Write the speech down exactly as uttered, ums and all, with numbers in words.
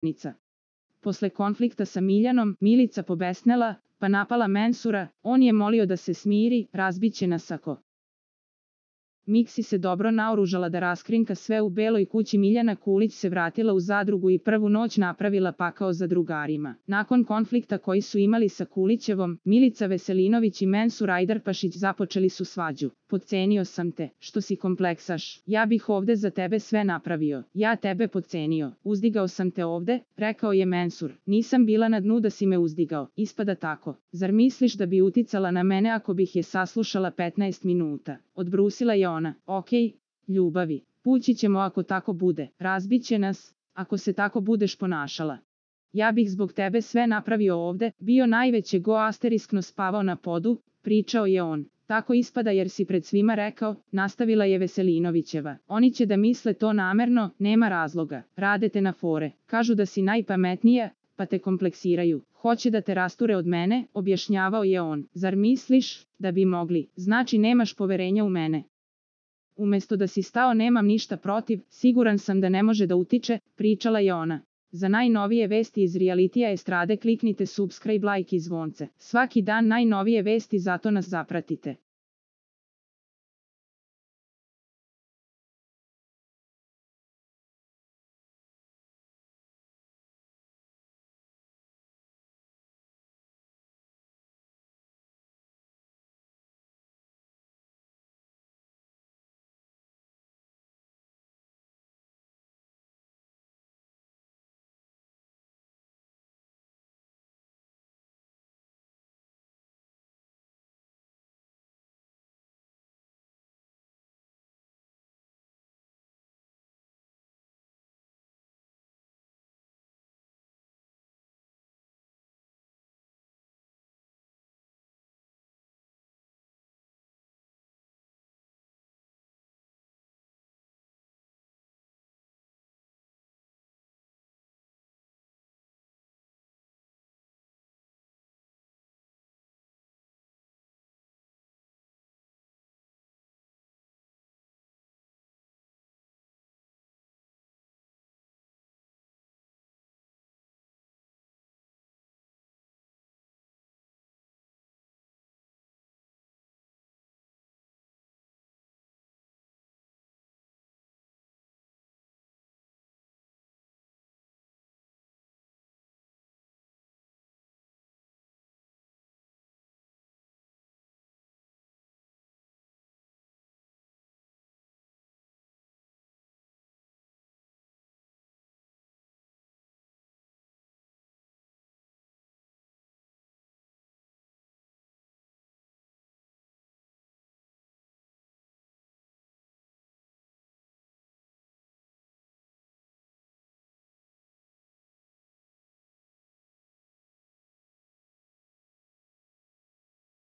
Nica. Posle konflikta sa Miljanom, Milica pobesnela, pa napala Mensura, on je molio da se smiri, razbiće nas ako. Miksi se dobro naoružala da raskrinka sve u beloj kući. Miljana Kulić se vratila u zadrugu i prvu noć napravila pakao za drugarima. Nakon konflikta koji su imali sa Kulićevom, Milica Veselinović i Mensur Ajdarpašić započeli su svađu. Podcenio sam te, što si kompleksaš. Ja bih ovde za tebe sve napravio. Ja tebe podcenio. Uzdigao sam te ovde, rekao je Mensur. Nisam bila na dnu da si me uzdigao. Ispada tako. Zar misliš da bi uticala na mene ako bih je saslušala petnaest minuta? Odbrusila je ona. Okej, ljubavi. Pući ćemo ako tako bude. Razbiće nas, ako se tako budeš ponašala. Ja bih zbog tebe sve napravio ovde, bio najveće go asteriskno spavao na podu, pričao je on. Tako ispada jer si pred svima rekao, nastavila je Veselinovićeva. Oni će da misle to namerno, nema razloga. Rade te na fore. Kažu da si najpametnija, pa te kompleksiraju. Hoće da te rasture od mene, objašnjavao je on. Zar misliš da bi mogli? Znači nemaš poverenja u mene. Umesto da si stao nemam ništa protiv, siguran sam da ne može da utiče, pričala je ona. Za najnovije vesti iz realitija estrade kliknite subscribe, like i zvonce. Svaki dan najnovije vesti, zato nas zapratite.